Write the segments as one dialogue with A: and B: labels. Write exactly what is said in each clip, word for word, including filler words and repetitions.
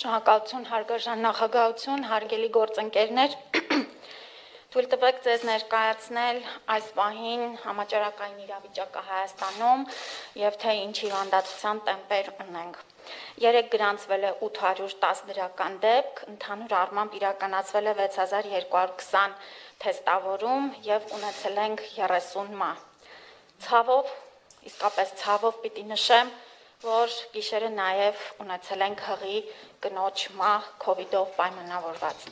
A: Շնորհակալություն, հարգարժան նախագահություն, հարգելի գործընկերներ, թույլ տվեք ձեզ ներկայացնել այս պահին համաճարակային իրավիճակը Հայաստանում եւ թե ինչ հիվանդացության տեմպեր ունենք։ Երեկ գրանցվել է ութ հարյուր տասը դրական դեպք, ընդհանուր առմամբ իրականացվել է վեց հազար երկու հարյուր քսան թեստավորում եւ ունեցել ենք երեսուն մահ։ Ցավով, իսկապես ցավով պիտի նշեմ, որ գիշերը նաև ունեցել ենք հղի կնոջ մահ քովիդով պայմանավորված։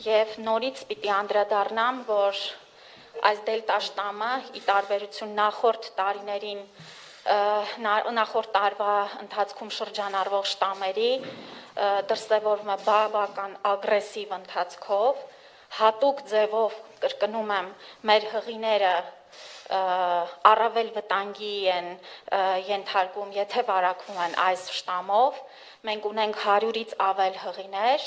A: Եվ նորից պիտի անդրադառնամ, որ այս դելտա շտամը ի տարբերություն նախորդ տարիներին նախորդ տարվա ընթացքում շրջանառվող շտամերի դրսևորվում է բավական ագրեսիվ ընթացքով, հատուկ ձևով կրկնում եմ, մեր հղիները առավել վտանգի են ենթարկվում, եթե վարակվում են այս շտամով, մենք ունենք հարյուրից ավել հղիներ,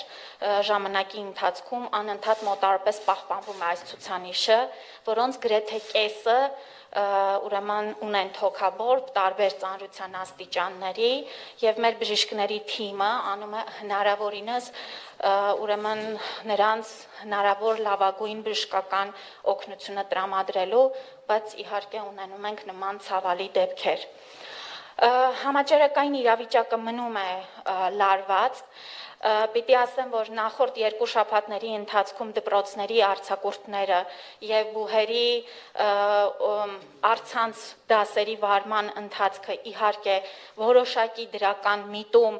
A: ժամանակի ընթացքում անընդհատ մոտարապես պահպանվում է այս ցուցանիշը, որոնց գրեթե կեսը ուրեմն ունեն թոքաբորբ տարբեր ծանրության աստիճանների եւ մեր բժիշկների թիմը անում է հնարավորինս ուրեմն նրանց հնարավոր լավագույն բժշկական օգնությունը տրամադրելու, բայց իհարկե ունենում ենք նման ցավալի դեպքեր։ Համաճարակային իրավիճակը մնում է լարված, պիտի ասեմ, որ նախորդ երկու շաբաթների ընթացքում դպրոցների արձակուրդները եւ բուհերի առցանց դասերի վարման ընթացքը իհարկե որոշակի դրական միտում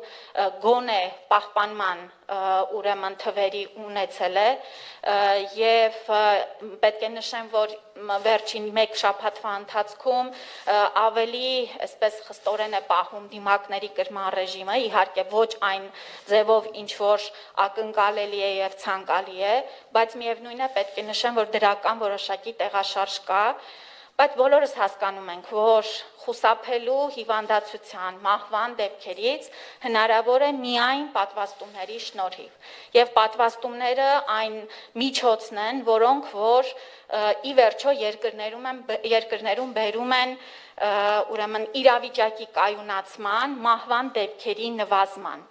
A: գոնե պահպանման ուրեմն թվերի ունեցել է եւ պետք է նշեմ, որ վերջին մեկ շաբաթվա ընթացքում ավելի այսպես խստորեն է պահում դիմակների կրման ռեժիմը, իհարկե ոչ այն ձևով ինչ որ ակնկալելի է եւ ցանկալի է, բայց միևնույն է պետք է նշեմ, որ դրական որոշակի տեղաշարժ կա, բայց բոլորս հասկանում ենք, որ խուսափելու հիվանդացության մահվան դեպքերից հնարավոր է միայն պատվաստումների շնորհիվ եւ պատվաստումները այն միջոցն են, որոնք որ ի վերջո երկրներում են երկրներում բերում են ուրեմն իրավիճակի կայունացման, մահվան դեպքերի նվազման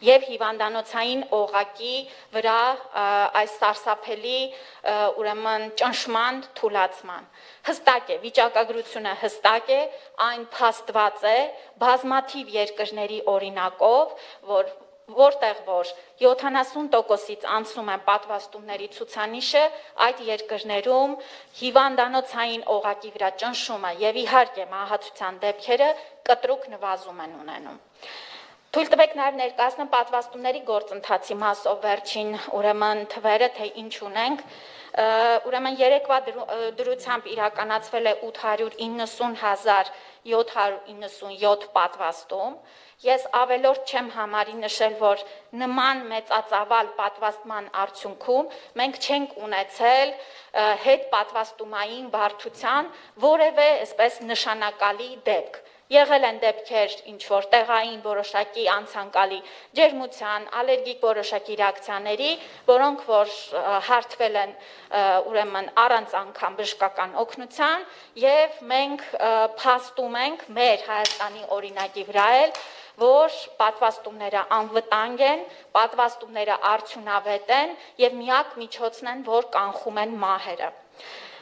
A: եւ հիվանդանոցային օղակի վրա այս սարսափելի ուրեմն ճնշման թուլացման։ Հստակ է, վիճակագրությունը հստակ է, այն փաստված է բազմաթիվ երկրների օրինակով, որ որտեղ որ յոթանասուն տոկոսից անցնում են պատվաստումների ցուցանիշը, այդ երկրներում հիվանդանոցային օղակի վրա ճնշումը եւ իհարկե մահացության դեպքերը կտրուկ նվազում են ունենում։ Թույլ տվեք նաև ներկայացնեմ պատվաստումների գործընթացի մասով վերջին ուրեմն թվերը, թե ինչ ունենք, ուրեմն երեկվա դրությամբ իրականացվել է ութ հարյուր իննսուն հազար յոթ հարյուր իննսունյոթ պատվաստում, ես ավելորդ չեմ համարի նշել, որ նման մեծածավալ պատվաստման արդյունքում մենք չենք ունեցել հետ պատվաստումային բարդության որևէ այսպես նշանակալի դեպք։ Եղել են դեպքեր ինչ որ տեղային որոշակի անցանկալի ջերմության, ալերգիկ որոշակի ռեակցիաների, որոնք որ հարթվել են ուրեմն առանց անգամ բժշկական օգնության եւ մենք փաստում ենք մեր Հայաստանի օրինակի վրա էլ, որ պատվաստումները անվտանգ են, պատվաստումները արդյունավետ են եւ միակ միջոցն են, որ կանխում են մահերը։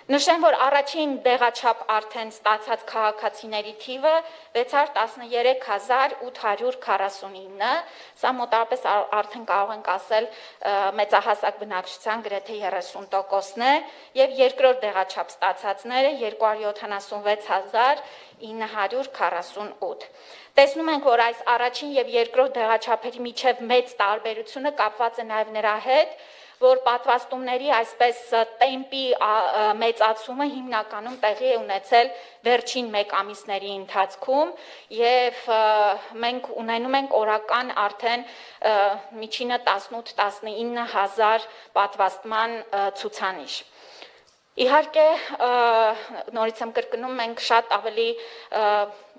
A: Նշեմ, որ առաջին դեղաչափ արդեն ստացած քաղաքացիների թիվը վեց հարյուր տասներեք հազար ութ հարյուր քառասունինը, սա մոտավորապես արդեն կարող ենք ասել մեծահասակ բնակչության գրեթե երեսուն տոկոսն է եւ երկրորդ դեղաչափ ստացածները երկու հարյուր յոթանասունվեց հազար ինը հարյուր քառասունութ։ Տեսնում ենք, որ այս առաջին եւ երկրորդ դեղաչափերի միջև մեծ տարբերությունը կապված է նաեւ նրա հետ, որ պատվաստումների այսպես տեմպի մեծացումը հիմնականում տեղի է ունեցել վերջին մեկ ամիսների ընթացքում եւ մենք ունենում ենք օրական արդեն միջինը տասնութ տասնինը հազար պատվաստման ցուցանիշ։ Իհարկե, նորից եմ կրկնում, մենք շատ ավելի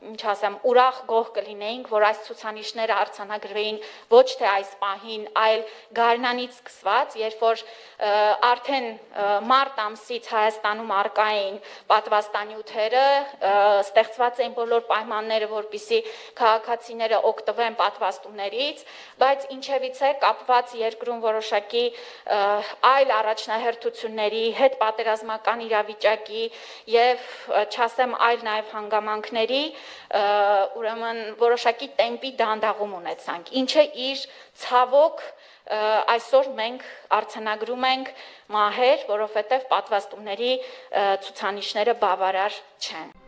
A: ինչ ասեմ, ուրախ գոհ կլինեինք, որ այս ցուցանիշները արձանագրվեին ոչ թե այս պահին, այլ գարնանից սկսված, երբ որ արդեն մարտ ամսից Հայաստանում առկա էին պատվաստանյութերը, ստեղծված էին բոլոր պայմանները, որպեսզի քաղաքացիները օգտվեն պատվաստումներից, բայց ինչևիցե կապված երկրում որոշակի այլ առաջնահերթությունների, հետ պատերազմական իրավիճակի եւ չասեմ այլ նաեւ հանգամանքների, ուրեմն որոշակի տեմպի դանդաղում ունեցանք, ինչը իր ցավոք այսօր մենք արձանագրում ենք մահեր, որովհետև պատվաստումների ցուցանիշները բավարար չեն։